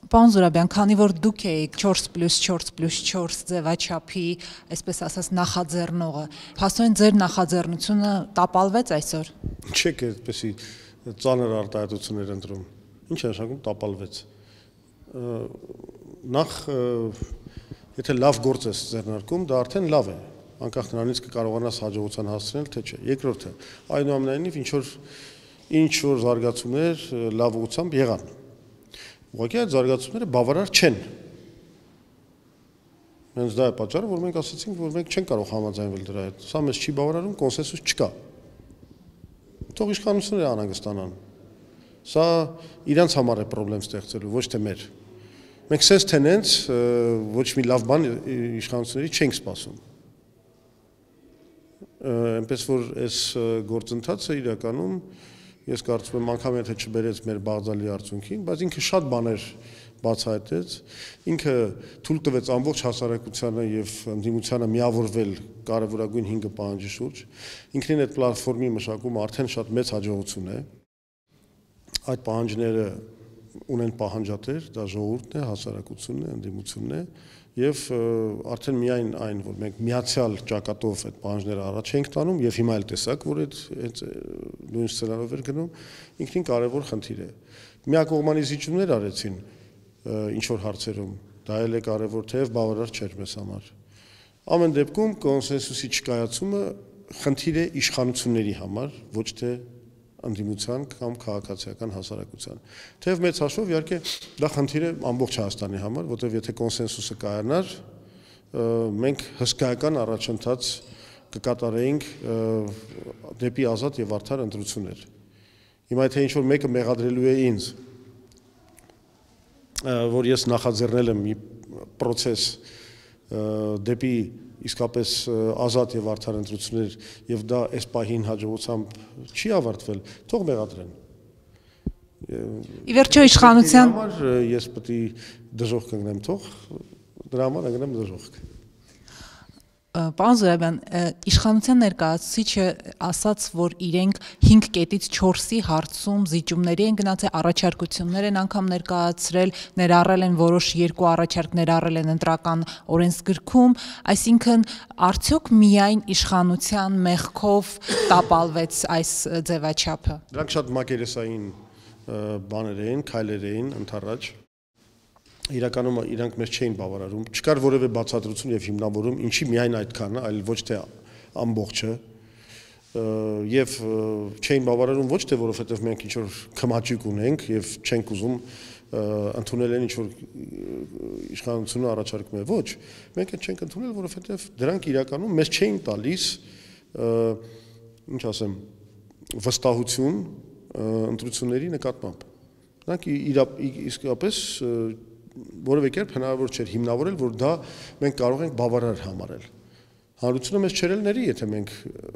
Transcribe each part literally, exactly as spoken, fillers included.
Պարոն Զուրաբյան, քանի որ դուք եք չորս պլյուս չորս պլյուս չորս ձևաչափի, այսպես ասած, նախաձեռնողը, փաստորեն ձեր նախաձեռնությունը տապալվեց այսօր։ Չեք այդպեսի ծանր արտահայտություններ ընտրում։ Ինչ է նշանակում տապալվեց։ Նախ եթե լավ գործ ես ձեռնարկում, դա արդեն լավ է։ Անկախ նրանից կկարողանաս հաջողության հասնել, թե չէ։ Երկրորդը, այնուամենայնիվ ինչ որ ինչ որ զարգացումներ լավ ուղղությամբ եղան։ Ուղղակի այդ զարգացումները բավարար չեն։ Հենց դա է պատճառը, որ մենք ասացինք, որ մենք չենք կարող համաձայնվել դրա հետ։ Սա մեզ չի բավարարում, կոնսենսուս չկա։ Թող իշխանությունները անհանգստանան։ Սա իրանց համար է խնդրեմ ստեղծելու, ոչ թե մեր։ Մենք սենց թե նենց ոչ մի լավ բան իշխանությունների չենք սպասում։ Այնպես որ այս գործընթացը իրականում ես կարծում եմ անգամ եթե չբերեց մեր բաղձալի արդյունքին, բայց ինքը շատ բաներ բացահայտեց, ինքը թույլ տվեց ամբողջ հասարակությանը եւ ընդդիմությանը միավորվել կարևորագույն հինգ պահանջի շուրջ, ինքնին այդ պլատֆորմի մշակումը արդեն շատ մեծ հաջողություն է։ Այդ պահանջները ունեն պահանջատեր, դա ժողովուրդն է, հասարակությունն է, ընդդիմությունն է եւ արդեն միայն այն, որ մենք միացյալ ճակատով այդ պահանջները առաջ ենք տանում եւ հիմա էլ տեսակ, որ այդ այդ նույն սցենարով էր գնում, ինքնին կարևոր խնդիր է։ Միակողմանի զիջումներ արեցին ինչ որ հարցերում, դա էլ է կարևոր, թեև բավարար չէր մեզ համար։ Ամեն դեպքում կոնսենսուսի չկայացումը խնդիր է իշխանությունների համար, ոչ թե ընդդիմության կամ քաղաքացիական հասարակության։ Թեև մեծ հաշվով իհարկե դա խնդիր է ամբողջ Հայաստանի համար, որտեղ եթե կոնսենսուսը կայանար, մենք հսկայական առաջընթաց կկատարեինք դեպի ազատ եւ արդար ընտրություններ։ Հիմա եթե ինչ-որ մեկը մեղադրելու է ինձ, որ ես նախաձեռնել եմ մի process դեպի իսկապես ազատ եւ արդար ընտրություններ եւ դա այս պահին հաջողությամբ չի ավարտվել, թող մեղադրեն։ Ի վերջո իշխանության ես պետք է դժոխք կանգնեմ, թող դրա համար կանգնեմ դժոխք։ Պարոն Զուրաբյան, իշխանության ներկայացուցիչը ասաց, որ իրենք հինգ կետից չորսի հարցում զիջումների են գնացել, առաջարկություններ են անգամ ներկայացրել, ներառել են որոշ երկու առաջարկ ներառել են ընտրական օրենսգրքում, այսինքն արդյոք միայն իշխանության մեղքով տապալվեց այս ձևաչափը։ Դրանք շատ մակերեսային բաներ էին, քայլեր էին ընդառաջ։ Իրականում իրանք մեզ չէին բավարարում, չկար որևէ բացատրություն եւ հիմնավորում, ինչի միայն այդքանը, այլ ոչ թե ամբողջը, եւ չէին բավարարում ոչ թե որովհետեւ մենք ինչ որ քմաճիկ ունենք եւ չենք ուզում ընդունել են ինչ որ իշխանությունը առաջարկում է, ոչ, մենք այդ չենք ընդունել, որովհետեւ դրանք իրականում մեզ չէին տալիս, ինչ ասեմ, վստահություն ընտրությունների նկատմամբ։ Դրանք իսկապես որևէ կերպ հնարավոր չէր հիմնավորել, որ դա մենք կարող ենք բավարար համարել։ Հանրությունը մեզ չերել ների, եթե մենք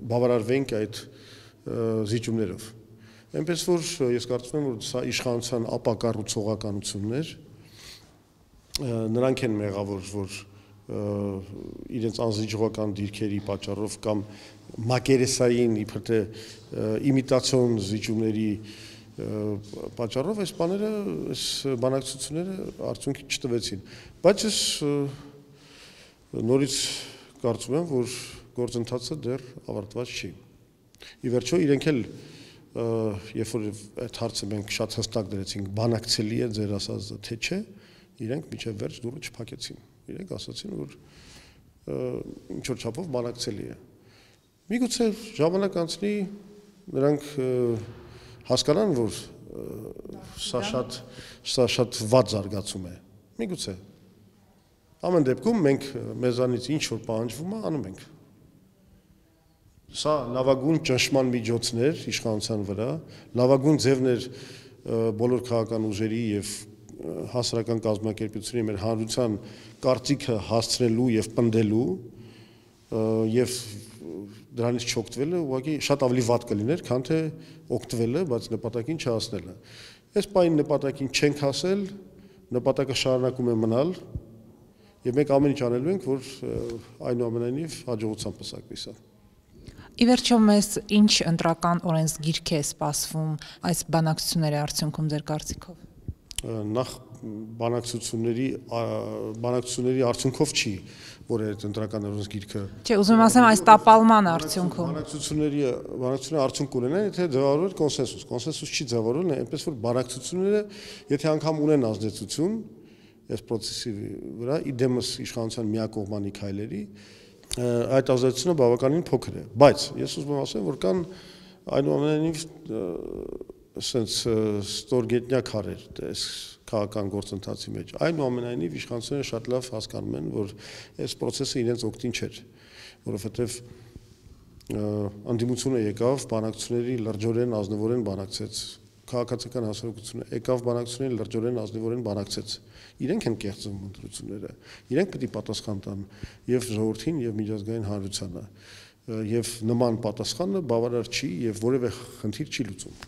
բավարարվենք այդ զիջումներով։ Այնպես որ ես կարծում եմ, որ սա իշխանության ապակառուցողականություններ, նրանք են մեղավոր, որ իրենց անզիջողական դիրքերի պատճառով կամ մակերեսային իբր թե իմիտացիոն զիջումների պատճառով այս բաները, այս բանակցությունները արդյունքի չտվեցին, բայց ես նորից կարծում եմ, որ գործընթացը դեռ ավարտված չի։ Ի վերջո իրենք էլ երբ որ այդ հարցը մենք շատ հստակ դրեցինք, բանակցելի է ձեր ասածը թե չէ, իրենք մինչև վերջ դուռը չփակեցին։ Իրենք ասացին, որ ինչ որ չափով բանակցելի է։ Միգուցե ժամանակ անցնի, նրանք հասկանան, որ սա շատ սա շատ վատ զարգացում է։ Միգուցե։ Ամեն դեպքում մենք մեզանից ինչ որ պահանջվում է, անում ենք։ Սա լավագույն ճնշման միջոցներ իշխանության վրա, լավագույն ձևներ բոլոր քաղաքական ուժերի եւ հասարակական կազմակերպությունների մեր հանրության կարծիքը հասցնելու եւ պնդելու եւ դրանից չօգտվելը ուղղակի շատ ավելի վատ կլիներ, քան թե օգտվելը, բայց նպատակին չհասնելը։ Այս պահին նպատակին չենք հասել, նպատակը շարունակում է մնալ եւ մենք ամեն ինչ անելու ենք, որ այնուամենայնիվ հաջողությամբ պսակվի սա։ Ի վերջո մեզ ինչ ընտրական օրենսգիրք է սպասվում այս բանակցությունների արդյունքում ձեր կարծիքով։ Նախ բանակցությունների բանակցությունների արդյունքով չի, որ այդ ընտրական օրենս գիրքը Չէ, ուզում եմ ասեմ այս տապալման արդյունքում բանակցությունների բանակցությունների արդյունք ունենան, եթե ձևավորվի կոնսենսուս, կոնսենսուս չի ձևավորվում, այնպես որ բանակցությունները, եթե անգամ ունեն ազդեցություն այս process-ի վրա, իդեմս իշխանության միակողմանի քայլերի, այդ ազդեցությունը բավականին փոքր է, բայց ես ուզում եմ ասեմ, որ կան այնուամենայնիվ sense ստորգետնյա քարեր այս քաղաքական գործընթացի մեջ այնուամենայնիվ իշխանությունները շատ լավ հասկանում են որ այս process-ը իրենց օգտին չէր որովհետև անդիմությունը եկավ բանակցությունների լրջորեն ազնվորեն բանակցեց քաղաքացիական հասարակությունը եկավ բանակցությունների լրջորեն ազնվորեն բանակցեց իրենք են կեղծում ընտրությունները իրենք պետք է պատասխան տան եւ ժողովրդին եւ միջազգային հանրությանը եւ նման պատասխանը բավարար չի եւ որևէ խնդիր չի լուծում